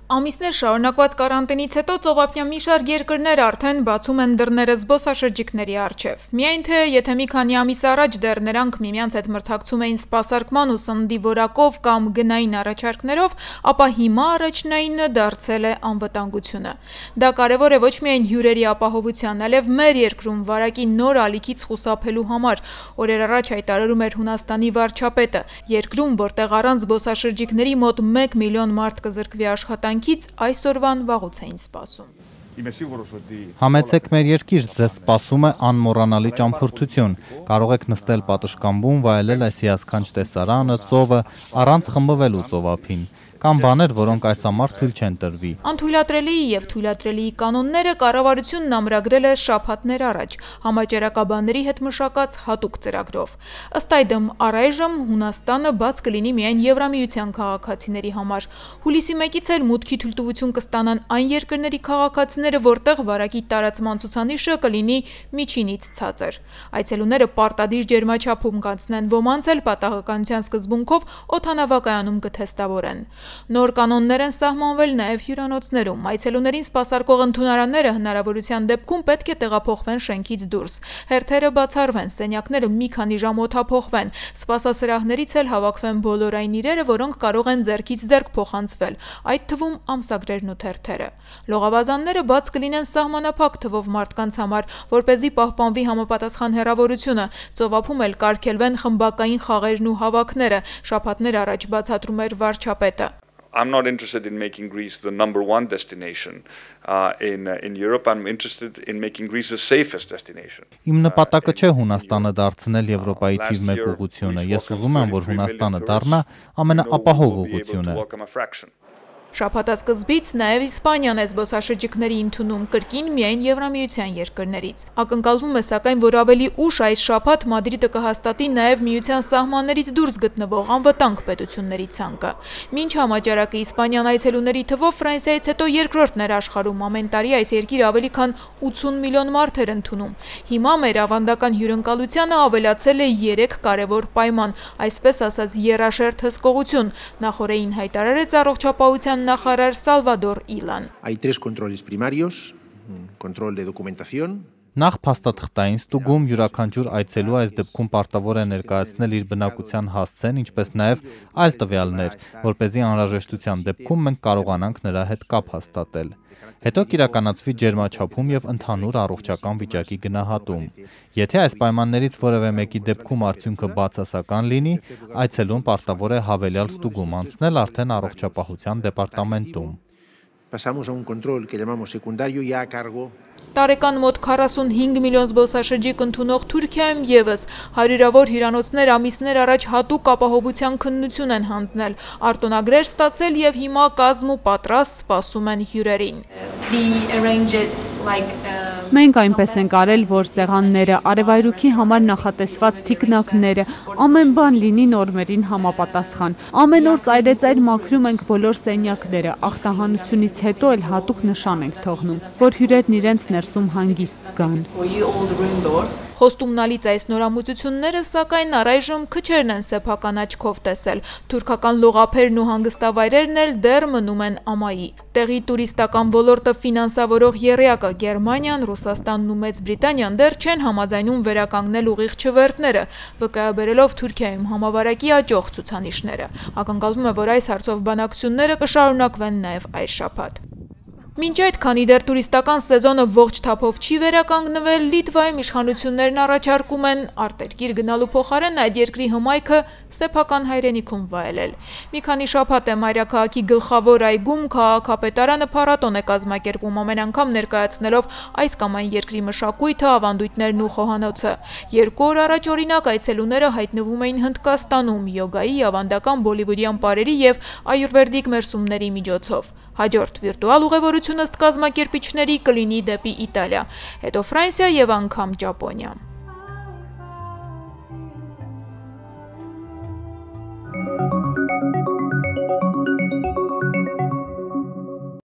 Ամիսներ շարունակված կարանտինից հետո ծովափնյա մի շարք երկրներ արդեն բացում են դռները զբոսաշրջիկների առջև։ Միայն թե եթե մի քանի ամիս առաջ դեռ նրանք միմյանց հետ մրցակցում էին սպասարկման ու սննդի որակով կամ գնային առաջարկներով, ապա հիմա առաջնայինը դարձել է անվտանգությունը։ Դա կարևոր է ոչ միայն հյուրերի ապահովության, այլև մեր երկրում վարակի նոր ալիքից խուսափելու համար, օրեր առաջ հայտարարում էր Հունաստանի վարչապետը։ Երկրում, որտեղ առանց զբոսաշրջիկների մոտ 1 միլիոն մարդ կզրկվի աշխատանքից, այսօրվան վաղուց էին սպասում։ Համեցեք մեր երկիր, ձեզ սպասում է անմոռանալի ճամփորդություն։ Կարող եք նստել պատշգամբում, վայելել այս հիասքանչ տեսարանը, ծովը, առանց խմբվելու ծովափին։ Կամ բաներ, որոնք այս համար թույլ չեն տրվի։ Անթույլատրելիի եւ թույլատրելիի կանոնները կառավարությունն ամրագրել է շաբաթներ առաջ համաճարակաբանների հետ մշակած հատուկ ծրագրով։ Ըստ այդմ, առայժմ Հունաստանը բաց կլինի միայն Եվրամիության քաղաքացիների համար։ Հուլիսի 1-ից էլ մուտքի թույլտվություն կստանան այն երկրների քաղաքացիները, որտեղ վարակի տարածման ցուցանիշը կլինի միջինից ցածր։ Այցելուները պարտադիր ջերմաչափում կանցնեն, ոմանց էլ պատահականության սկզբունքով օդանավակայանում կթեստավորեն։ Նոր կանոններ են սահմանվել նաև հյուրանոցներում։ Այցելուներին սպասարկող ընդունարանները հնարավորության դեպքում պետք է տեղափոխվեն շենքից դուրս։ Հերթերը բացառվեն, սենյակները մի քանի ժամ օդափոխվեն, սպասասրահներից էլ հավաքվեն բոլոր այն իրերը, որոնք կարող են ձեռքից ձեռք փոխանցվել, այդ թվում ամսագրերն ու թերթերը։ Լողավազանները բաց կլինեն սահմանափակ թվով մարդկանց համար, որպեսզի պահպանվի համապատասխան հեռավորությունը։ Ծովափում էլ կարգելվեն խմբակային խաղերն ու հավաքները, շաբաթներ առաջ բացատրում էր վարչապետը։ I'm not interested in making Greece the #1 destination in Europe. I'm interested in making Greece the safest destination. Իմ նպատակը չէ Հունաստանը դարձնել Եվրոպայի թիվ 1 ուղղությունը։ Ես ուզում եմ, որ Հունաստանը դառնա ամենաապահով ուղղությունը։ Շաբաթասկզբից նաև Իսպանիան է զբոսաշրջիկների ընդունում, կրկին միայն Եվրամիության երկրներից։ Ակնկալվում է, սակայն, որ ավելի ուշ այս շաբաթ Մադրիդը կհաստատի նաև միության սահմաններից դուրս գտնվող անվտանգ պետությունների ցանկը։ Մինչ համաճարակը Իսպանիան այցելուների թվով Ֆրանսիայից հետո երկրորդն էր աշխարհում, ամեն տարի այս երկիրը ավելի քան 80 միլիոն մարդ էր ընդունում։ Հիմա մեր ավանդական հյուրընկալությանը ավելացել է 3 կարևոր պայման, այսպես ասած եռաշերտ հսկողություն, նախորդին հայտարարեց առողջապահության նախարար Սալվադոր Իլան։ Նախ փաստաթղթային ստուգում, յուրաքանչյուր այցելու այս դեպքում պարտավոր է ներկայացնել իր բնակության հասցեն, ինչպես նաև այլ տվյալներ, որպեսզի անհրաժեշտության դեպքում մենք կարողանանք նրա հետ կապ հաստատել։ Հետո կիրականացվի ջերմաչափում եւ ընդհանուր առողջական վիճակի գնահատում։ Եթե այս պայմաններից որևէ մեկի դեպքում արդյունքը բացասական լինի, այցելուն պարտավոր է հավելյալ ստուգում անցնել արդեն առողջապահության դեպարտամենտում։ Տարեկան մոտ 45 միլիոն զբոսաշրջիկ ընդունող Թուրքիայում եւս հարյուրավոր հյուրանոցներ ամիսներ առաջ հատուկ ապահովության քննություն են հանձնել, արտոնագրեր ստացել եւ հիմա կազմ ու պատրաստ սպասում են հյուրերին։ Մենք այնպես ենք արել, որ սեղանները, արևայրուքի համար նախատեսված թիկնակները, ամեն բան լինի նորմերին համապատասխան։ Ամեն օր ծայրեծայր մաքրում ենք բոլոր սենյակները, ախտահանությունից հետո էլ հատուկ նշան ենք թողնում, որ հյուրերն իրենց ներսում հանգիստ զգան։ Խոստումնալից այս նորամուծությունները, սակայն առայժմ քչերն են սեփական աչքով տեսել։ Թուրքական լողափերն ու հանգստավայրերն էլ դեռ մնում են ամայի։ Տեղի տուրիստական ոլորտը ֆինանսավորող եռյակը Գերմանիան, Ռուսաստանն ու Մեծ Բրիտանիան դեռ չեն համաձայնում վերականգնել ուղիղ չվերթները, վկայաբերելով Թուրքիայում համավարակի աճող ցուցանիշները։ Ակնկալվում է, որ այս հարցով բանակցությունները կշարունակվեն նաև այս շաբաթ։ Մինչ այդ, քանի դեռ տուրիստական սեզոնը ողջ թափով չի վերականգնվել, Լիտվայում իշխանություններն առաջարկում են արտերկիր գնալու փոխարեն այդ երկրի հմայքը սեփական հայրենիքում վայելել։ Մի քանի շաբաթ է մայրաքաղաքի գլխավոր այգում քաղաքապետարանը փառատոն է կազմակերպում, ամեն անգամ ներկայացնելով այս կամ այն երկրի մշակույթը, ավանդույթներն ու խոհանոցը։ 2 օր առաջ օրինակ այցելուները հայտնվում էին Հնդկաստանում յոգայի, ավանդական բոլիվուդյան պարերի եւ այուրվեդիկ մերսումների միջոցով։ Հաջորդ վիրտուալ ուղևորությունը ըստ կազմակերպիչների կլինի դեպի Իտալիա, հետո Ֆրանսիա եւ անգամ Ճապոնիա։